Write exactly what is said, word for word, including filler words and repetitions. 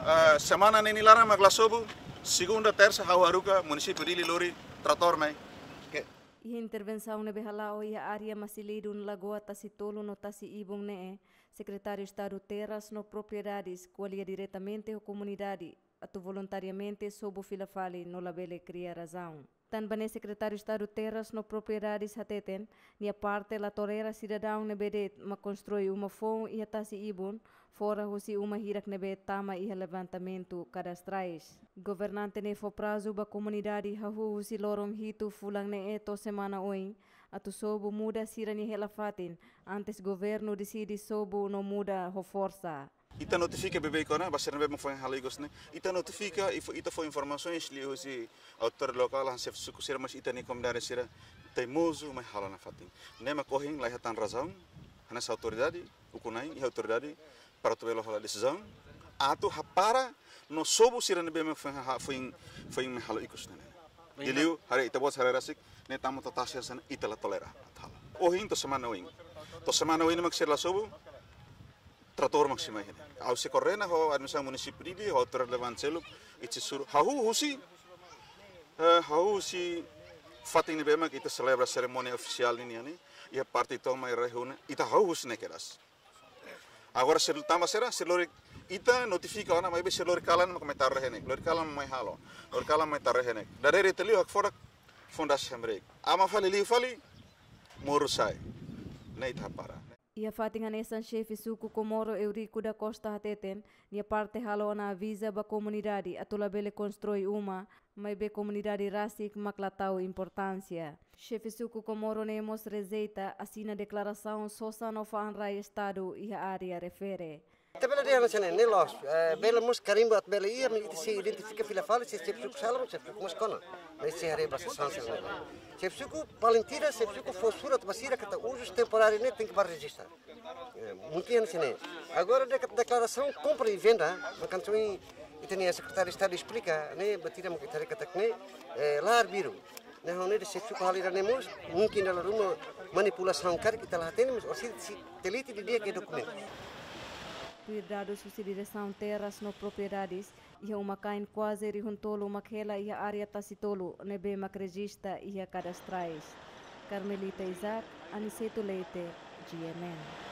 Ah, semana ne'e nia laran mak la sobu, segunda, tersa, ha'u haruka munisípiu Dili lori tratór mai. Ke? Iha intervensaun ne'ebé hala'o iha área Masilidun, Lagoa Tasi Tolu no Tasi Ibun ne'e, Sekretáriu Estadu Terras no Propriedades ko'alia diretamente ho komunidade atu voluntariamente sobu fila fali no labele kria razaun. Tanba ne'e Sekretáriu Estadu Terras no Propriedades hateten, nia parte la tolera sidadaun ne'ebé de'it mak konstrui uma foun iha Tasi Ibun, fora husi uma hirak ne'ebé tama iha levantamentu kadastrais. Governante ne'e fó prazu ba komunidade hahú husi loron hitu fulan ne'e to'o semana oin, atu sobu muda sira-nia hela fatin, antes governu deside sobu no muda ho forsa. Ita notifika beibeik ona ba sira ne'ebé mak foin halo ikus ne'e. Ita notifika, i fó, ita fó informasaun liuhusi autoridade lokál, hanesan xefe suku sira, mas ita-nia komunidade sira teimozu mai halo nafatin. Ne'e mak ohin la iha tan razaun, hanesan autoridade, ukun-na'in, iha autoridade, para atu bele halo desizaun, atu hapara no sobu sira ne'ebé mak foin ha-, foin, foin mai halo ikus ne'e. Liuliu, haree ita-boot haree rasik, ne'e tama to'o tasi hanesan ne'e ita la tolera atu halo. Ohin to'o semana oin. To'o semana oin mak sira la sobu, tratór mak sei mai iha ne'e. Ha'u sei koordena ho administrasaun munisípiu Dili, ho autoridade relevante seluk, ita sei suru. Hahú husi, eh, hahú husi fatin ne'ebé mak ita selebra serimónia ofisiál ninian ne'e, iha parte toma i reúne, ita hahú husi ne'e kedas. Agora sei tama sira, sei lori, ita notifika ona, maibé sei lori kalan mak mai taruh iha ne'e, lori kalan mai halo, lori kalan mai taruh iha ne'e. Dadeer ita liu hakfodak foun dasa hamriik. Aban fali liu fali, moru sa'e. Ne'e ita hapara. Iha fatin hanesan, xefe suku Comoro Eurico da Costa hateten, nia parte halo ona aviza ba komunidade atu labele konstrui uma, maibé komunidade rasik mak la tau importánsia. Xefe suku Comoro ne'e mós rejeita asina deklarasaun sosa no fa'an rai Estadu iha área refere. Ita bele dehan hanesan ne'e, ne'e loos, eh, bele mós karimbu atu bele iha, mas ita sei identifika fila fali, se xefe suku sala, xefe suku mós kona. Mas sei haree ba sansaun ne'e. Xefe suku, paling tidak, xefe suku fó surat ba sira katak uzus temporáriu ne'e tenke ba rejista. Eh, mungkin hanesan ne'e. Agora de-, deklarasaun kompra i venda, mak hanesan ohin ita-nia Sekretáriu Estadu esplika, ne'e, ba ita mak ita haree katak ne'e, eh, la arbiru. Ne'e ha'u hanoin de'it xefe suku halo ida-ne'e mós, mungkin dala ruma manipulasaun karik ita la hatene, mas orsida sei teliti didi'ak iha dokumentu. Tuir dadus husi Diresaun Terras no Propriedades, iha uma-kain kuaze rihun tolu mak hela iha área Tasi Tolu ne'ebé mak rejista iha kadastrais. Carmelita Isaac, Aniceto Leite, G M N.